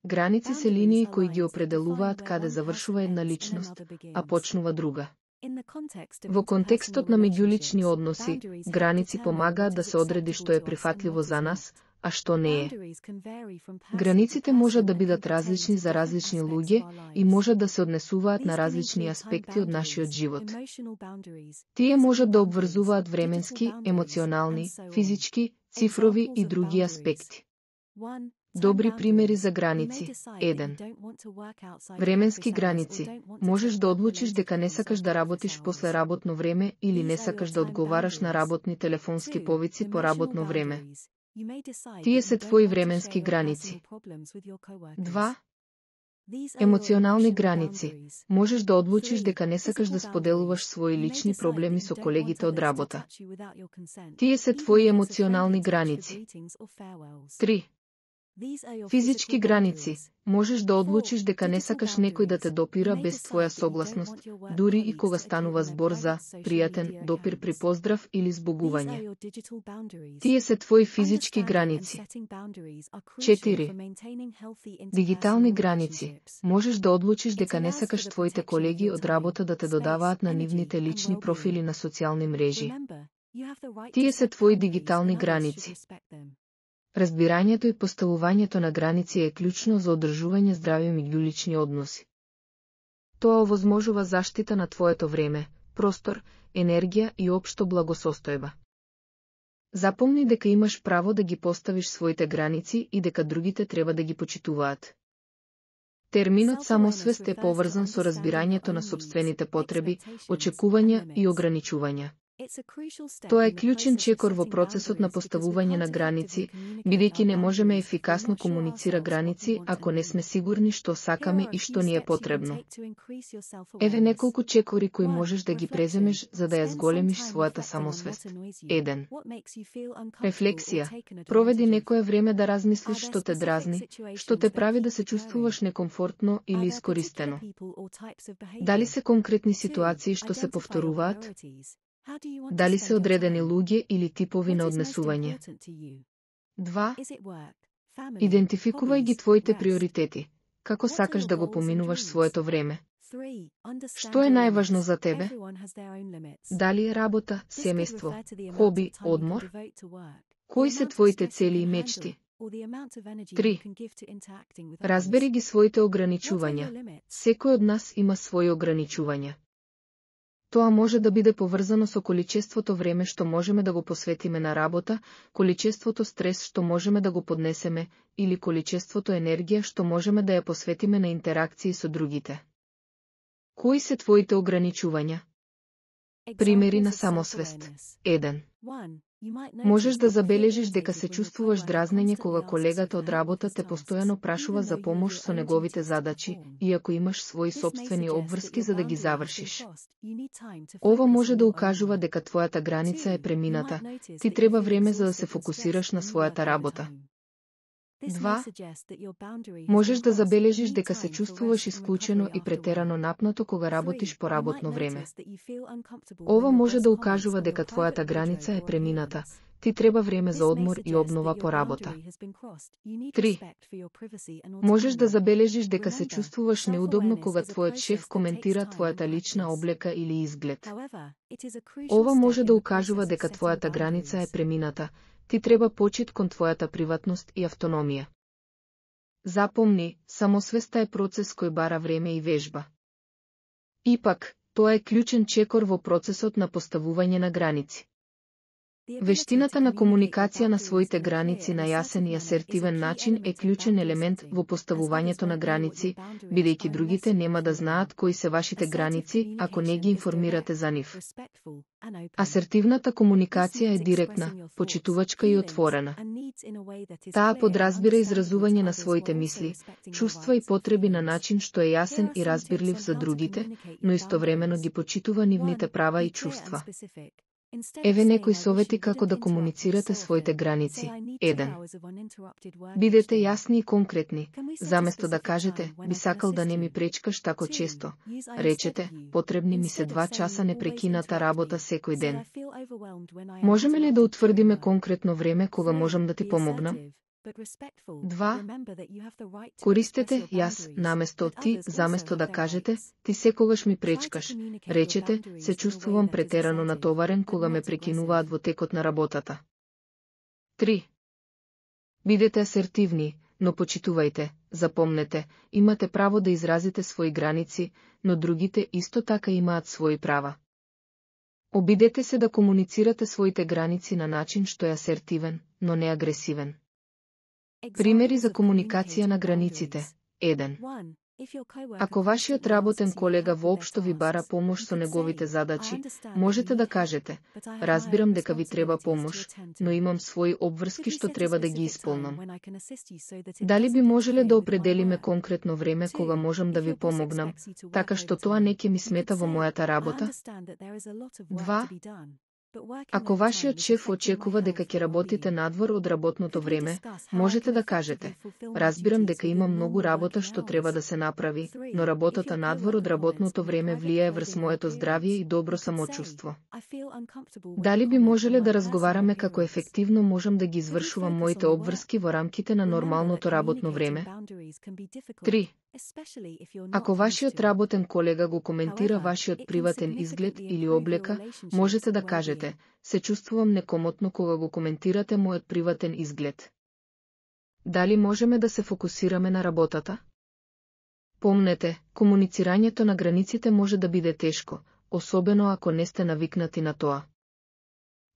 Граници се линии кои ги определуваат каде завршува една личност, а почнува друга. Во контекстот на меѓулични односи, граници помагаат да се одреди што е прифатливо за нас, а што не е. Границите можат да бидат различни за различни луѓе и можат да се однесуваат на различни аспекти од нашиот живот. Тие можат да обврзуваат временски, емоционални, физички, цифрови и други аспекти. Добри примери за граници. 1. Временски граници. Можеш да одлучиш дека не сакаш да работиш после работно време или не сакаш да одговараш на работни телефонски повици по работно време. Тие се твои временски граници. 2. Емоционални граници. Можеш да одлучиш дека не сакаш да споделуваш своји лични проблеми со колегите од работа. Тие се твои емоционални граници. 3. Физички граници. Можеш да одлучиш дека не сакаш некој да те допира без твоја согласност, дури и кога станува збор за пријатен допир при поздрав или збогување. Тие се твои физички граници. 4. Дигитални граници. Можеш да одлучиш дека не сакаш твоите колеги од работа да те додаваат на нивните лични профили на социјални мрежи. Тие се твои дигитални граници. Разбирањето и поставувањето на граници е клучно за одржување здрави меѓулични односи. Тоа овозможува заштита на твоето време, простор, енергија и општо благосостојба. Запомни дека имаш право да ги поставиш своите граници и дека другите треба да ги почитуваат. Терминот самосвест е поврзан со разбирањето на сопствените потреби, очекувања и ограничувања. Тоа е клучен чекор во процесот на поставување на граници, бидејќи не можеме ефикасно комуницира граници ако не сме сигурни што сакаме и што ни е потребно. Еве неколку чекори кои можеш да ги преземеш за да ја зголемиш својата самосвест. 1. Рефлексија. Проведи некое време да размислиш што те дразни, што те прави да се чувствуваш некомфортно или искористено. Дали се конкретни ситуации што се повторуваат? Дали се одредени луѓе или типови на однесување? 2. Идентификувај ги твоите приоритети. Како сакаш да го поминуваш своето време? Што е најважно за тебе? Дали е работа, семејство, хоби, одмор? Кои се твоите цели и мечти? 3. Разбери ги своите ограничувања. Секој од нас има своји ограничувања. Тоа може да биде поврзано со количеството време што можеме да го посветиме на работа, количеството стрес што можеме да го поднесеме, или количеството енергија што можеме да ја посветиме на интеракции со другите. Кои се твоите ограничувања? Примери на самосвест. 1. Можеш да забележиш дека се чувствуваш дразнење кога колегата од работа те постојано прашува за помош со неговите задачи, иако имаш своји сопствени обврски за да ги завршиш. Ова може да укажува дека твојата граница е премината, ти треба време за да се фокусираш на својата работа. 2. Можеш да забележиш дека се чувствуваш исклучено и претерано напнато кога работиш по работно време. Ова може да укажува дека твојата граница е премината, ти треба време за одмор и обнова по работа. 3. Можеш да забележиш дека се чувствуваш неудобно кога твојот шеф коментира твојата лична облека или изглед. Ова може да укажува дека твојата граница е премината, ти треба почит кон твојата приватност и автономија. Запомни, самосвеста е процес кој бара време и вежба. Ипак, тоа е клучен чекор во процесот на поставување на граници. Вештината на комуникација на своите граници на јасен и асертивен начин е клучен елемент во поставувањето на граници, бидејќи другите нема да знаат кои се вашите граници ако не ги информирате за нив. Асертивната комуникација е директна, почитувачка и отворена. Таа подразбира изразување на своите мисли, чувства и потреби на начин што е јасен и разбирлив за другите, но истовремено ги почитува нивните права и чувства. Еве некои совети како да комуницирате своите граници. 1. Бидете јасни и конкретни. Заместо да кажете, би сакал да не ми пречкаш тако често, речете, потребни ми се 2 часа непрекината работа секој ден. Можеме ли да утврдиме конкретно време кога можам да ти помогнам? 2. Користете јас наместо ти, заместо да кажете ти секогаш ми пречкаш. Речете се чувствувам претерано натоварен кога ме прекинуваат во текот на работата. 3. Бидете асертивни, но почитувајте, запомнете, имате право да изразите своји граници, но другите исто така имаат своји права. Обидете се да комуницирате своите граници на начин што е асертивен, но не агресивен. Примери за комуникација на границите. 1. Ако вашиот работен колега воопшто ви бара помош со неговите задачи, можете да кажете: разбирам дека ви треба помош, но имам своји обврски што треба да ги исполнам. Дали би можеле да определиме конкретно време кога можам да ви помогнам, така што тоа не ќе ми смета во мојата работа? 2. Ако вашиот шеф очекува дека ќе работите надвор од работното време, можете да кажете: разбирам дека има многу работа што треба да се направи, но работата надвор од работното време влијае врз моето здравје и добро самочувство. Дали би можеле да разговараме како ефективно можам да ги извршувам моите обврски во рамките на нормалното работно време? 3. Ако вашиот работен колега го коментира вашиот приватен изглед или облека, можете да кажете: се чувствувам некомотно кога го коментирате мојот приватен изглед. Дали можеме да се фокусираме на работата? Помнете, комуницирањето на границите може да биде тешко, особено ако не сте навикнати на тоа.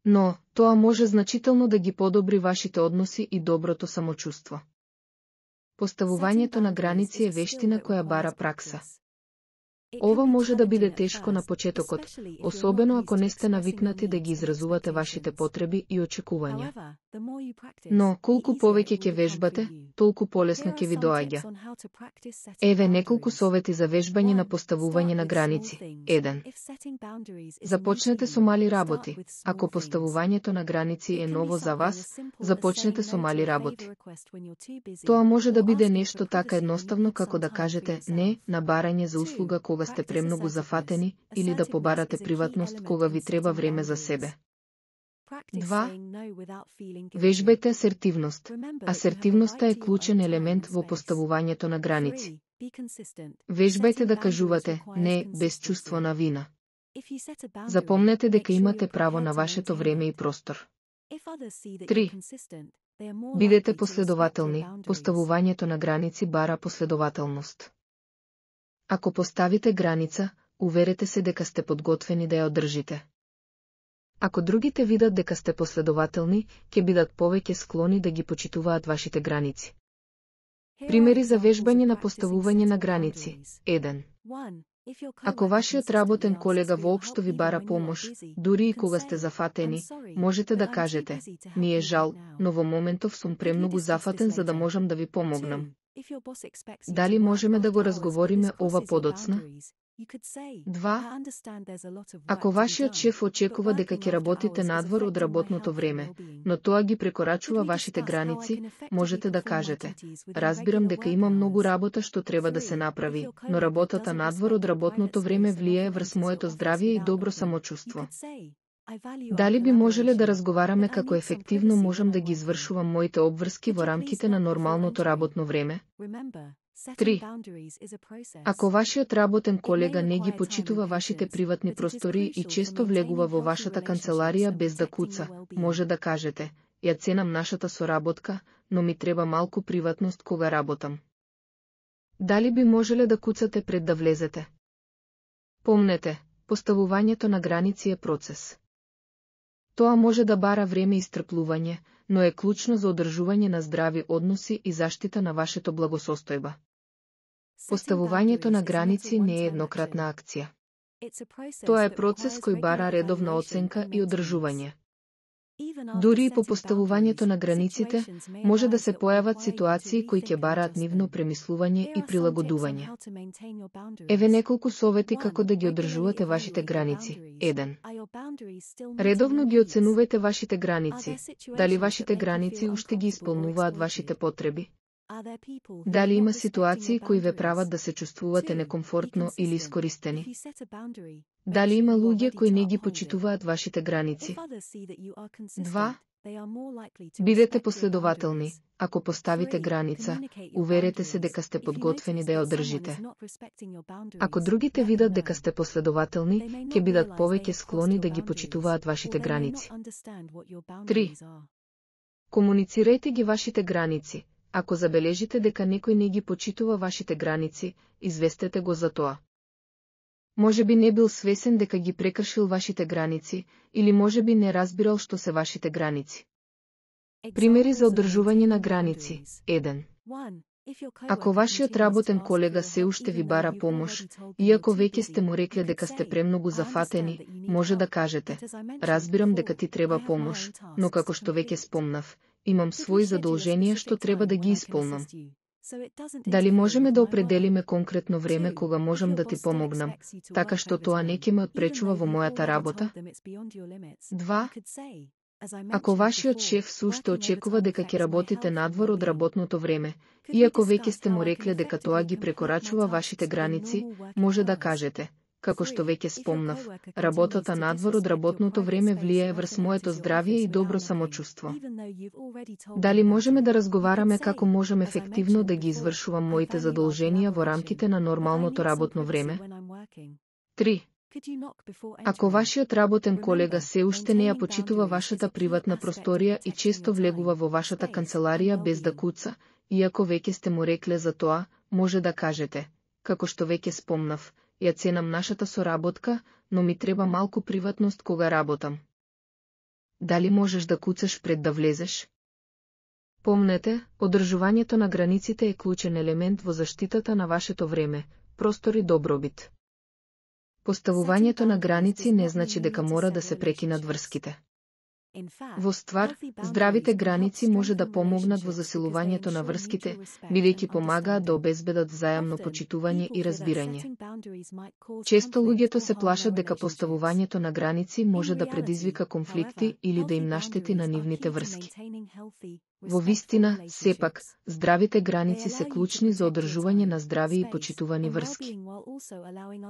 Но, тоа може значително да ги подобри вашите односи и доброто самочувство. Поставувањето на граници е вештина која бара пракса. Ова може да биде тешко на почетокот, особено ако не сте навикнати да ги изразувате вашите потреби и очекувања. Но, колку повеќе ќе вежбате, толку полесно ќе ви доаѓа. Еве неколку совети за вежбање на поставување на граници. 1. Започнете со мали работи. Ако поставувањето на граници е ново за вас, започнете со мали работи. Тоа може да биде нешто така едноставно како да кажете не на барање за услуга кога сте премногу зафатени или да побарате приватност кога ви треба време за себе. 2. Вежбајте асертивност. Асертивноста е клучен елемент во поставувањето на граници. Вежбајте да кажувате не без чувство на вина. Запомнете дека имате право на вашето време и простор. 3. Бидете последователни. Поставувањето на граници бара последователност. Ако поставите граница, уверете се дека сте подготвени да ја одржите. Ако другите видат дека сте последователни, ќе бидат повеќе склони да ги почитуваат вашите граници. Примери за вежбање на поставување на граници. 1. Ако вашиот работен колега воопшто ви бара помош, дури и кога сте зафатени, можете да кажете: ми е жал, но во моментов сум премногу зафатен за да можам да ви помогнам. Дали можеме да го разговориме ова подоцна? 2. Ако вашиот шеф очекува дека ќе работите надвор од работното време, но тоа ги прекорачува вашите граници, можете да кажете: разбирам дека има многу работа што треба да се направи, но работата надвор од работното време влијае врз моето здравје и добро самочувство. Дали би можеле да разговараме како ефективно можам да ги извршувам моите обврски во рамките на нормалното работно време? 3. Ако вашиот работен колега не ги почитува вашите приватни простори и често влегува во вашата канцеларија без да куца, може да кажете: ја ценам нашата соработка, но ми треба малку приватност кога работам. Дали би можеле да куцате пред да влезете? Помнете, поставувањето на граници е процес. Тоа може да бара време и стрплување, но е клучно за одржување на здрави односи и заштита на вашето благосостојба. Поставувањето на граници не е еднократна акција. Тоа е процес кој бара редовна оценка и одржување. Дури и по поставувањето на границите, може да се појават ситуации кои ќе бараат нивно премислување и прилагодување. Еве неколку совети како да ги одржувате вашите граници. 1. Редовно ги оценувајте вашите граници. Дали вашите граници уште ги исполнуваат вашите потреби? Дали има ситуации кои ве прават да се чувствувате некомфортно или искористени? Дали има луѓе кои не ги почитуваат вашите граници? 2. Бидете последователни. Ако поставите граница, уверете се дека сте подготвени да ја одржите. Ако другите видат дека сте последователни, ќе бидат повеќе склони да ги почитуваат вашите граници. 3. Комуницирајте ги вашите граници. Ако забележите дека некој не ги почитува вашите граници, известете го за тоа. Може би не бил свесен дека ги прекршил вашите граници, или може би не разбирал што се вашите граници. Примери за одржување на граници. 1. Ако вашиот работен колега се уште ви бара помош, иако веќе сте му рекле дека сте премногу зафатени, може да кажете: разбирам дека ти треба помош, но како што веќе спомнав, имам своји задолженија што треба да ги исполнам. Дали можеме да определиме конкретно време кога можам да ти помогнам, така што тоа не ќе ме отпречува во мојата работа? 2. Ако вашиот шеф се уште очекува дека ќе работите надвор од работното време, иако веќе сте му рекле дека тоа ги прекорачува вашите граници, може да кажете: како што веќе спомнав, работата надвор од работното време влијае врз моето здравје и добро самочувство. Дали можеме да разговараме како можам ефективно да ги извршувам моите задолженија во рамките на нормалното работно време? 3. Ако вашиот работен колега се уште не ја почитува вашата приватна просторија и често влегува во вашата канцеларија без да куца, иако веќе сте му рекле за тоа, може да кажете: како што веќе спомнав, ја ценам нашата соработка, но ми треба малку приватност кога работам. Дали можеш да куцаш пред да влезеш? Помнете, одржувањето на границите е клучен елемент во заштитата на вашето време, простор и добробит. Поставувањето на граници не значи дека мора да се прекинат врските. Во ствар, здравите граници може да помогнат во засилувањето на врските, бидејќи помагаат да обезбедат взајамно почитување и разбирање. Често луѓето се плашат дека поставувањето на граници може да предизвика конфликти или да им наштети на нивните врски. Во вистина, сепак, здравите граници се клучни за одржување на здрави и почитувани врски.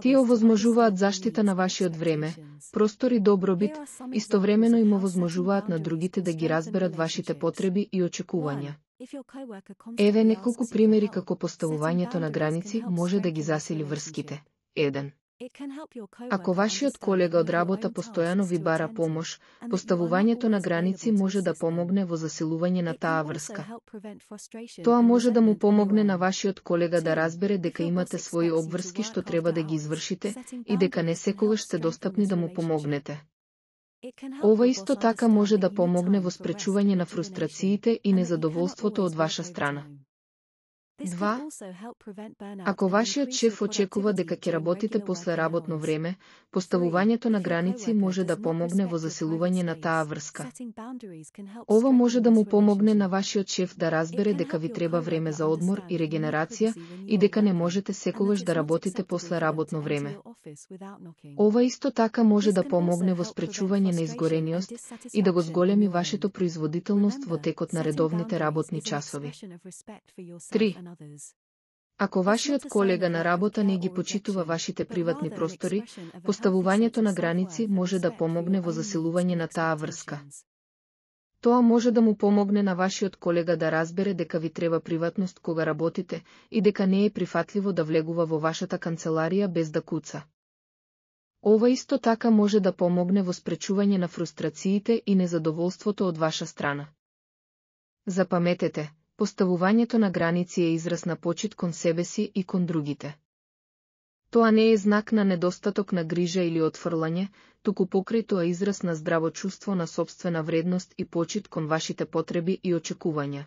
Тие овозможуваат заштита на вашиот време, простор и добробит, истовремено им овозможуваат на другите да ги разберат вашите потреби и очекувања. Еве неколку примери како поставувањето на граници може да ги засили врските. 1. Ако вашиот колега од работа постојано ви бара помош, поставувањето на граници може да помогне во засилување на таа врска. Тоа може да му помогне на вашиот колега да разбере дека имате своји обврски што треба да ги извршите и дека не секогаш сте достапни да му помогнете. Ова исто така може да помогне во спречување на фрустрациите и незадоволството од ваша страна. 2. Ако вашиот шеф очекува дека ќе работите после работно време, поставувањето на граници може да помогне во засилување на таа врска. Ова може да му помогне на вашиот шеф да разбере дека ви треба време за одмор и регенерација и дека не можете секогаш да работите после работно време. Ова исто така може да помогне во спречување на изгорениост и да го зголеми вашето производителност во текот на редовните работни часови. 3. Ако вашиот колега на работа не ги почитува вашите приватни простори, поставувањето на граници може да помогне во засилување на таа врска. Тоа може да му помогне на вашиот колега да разбере дека ви треба приватност кога работите и дека не е прифатливо да влегува во вашата канцеларија без да куца. Ова исто така може да помогне во спречување на фрустрациите и незадоволството од ваша страна. Запаметете, поставувањето на граници е израз на почит кон себе си и кон другите. Тоа не е знак на недостаток на грижа или отфрлање, туку покрај тоа израз на здраво чувство на сопствена вредност и почит кон вашите потреби и очекувања.